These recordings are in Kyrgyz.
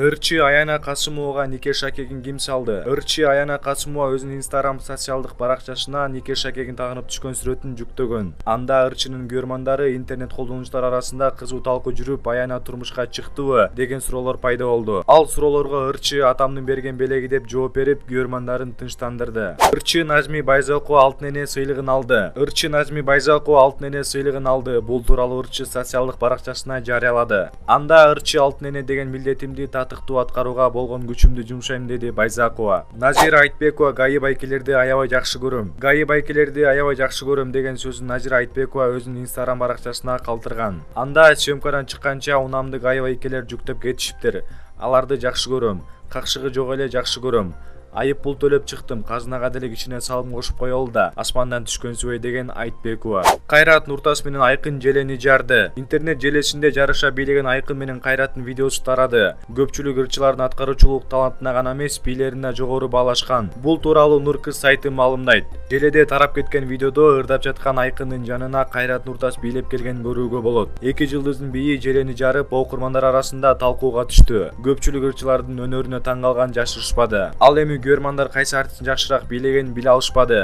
Ырчы Аяна Касымовага нике шакегин ким салды? Ырчы Аяна Касымова өзүнүн Instagram социалдык баракчасына нике шакегин тагынып түшкөн сүрөтүн жүктөгөн. Анда ырчынын көрмандары интернет колдонуучулар арасында кызуу талкуу жүрүп, Аяна турмушка чыктыбы деген суроолор пайда болду. Ал суроолорго ырчы атамдын берген белеги деп жооп берип, көрмандарын тынчтандырды. Ырчы Назми Байзакова алтын эне сыйлыгын алды. Ырчы Назми Байзакова алтын эне сыйлыгын алды. Бул тууралуу ырчы социалдык баракчасына жарыялады. Анда ырчы алтын эне деген милдетимди татыктуу аткарууга болгон күчүмдү жумшайм, деди Байзакова. Назира Айтбекова гаи байкелерди аябай жакшы көрөм. Гаи байкелерди аябай жакшы көрөм деген сөзүн Назира Айтбекова өзүнүн Instagram баракчасына калтырган. Анда съемкадан чыкканча унамды гаи байкелер жүктөп кетишиптир. Аларды жакшы көрөм. Какшыгы жок эле жакшы көрөм. Айып пул төлөп чыктым, казынага деле кичине салым кошуп коелу да, асмандан түшкөн субай, деген Айтбекова. Кайрат Нуртас менен Айкын желени жарды. Интернет желесинде жарыша бийлеген Айкын менен Кайраттын видеосу тарады. Көпчүлүк ырчылардын аткаруучулук талантына гана эмес, бийлерине жогору баалашкан. Бул тууралуу Нуркыз сайты маалымдайт. Желеде тарап кеткен видеодо ырдап жаткан Айкындын жанына Кайрат Нуртас бийлеп келген көрүүгө болот. Эки жылдыздын бийи желени жарып, окурмандар арасында талкууга түштү. Көпчүлүк ырчылардын өнөрүнө таң калган жашырышпады. Ал эми көрмандар кайсы артистин жакшыраак бийлегенин биле алышпады.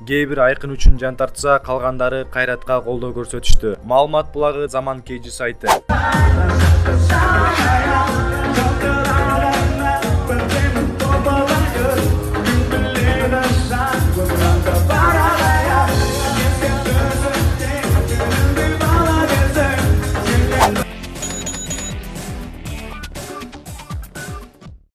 Кээ бир Айкын үчүн жан тартса, калгандары Кайратка колдоо көрсөтүштү. Маалымат булагы Заман KG сайты.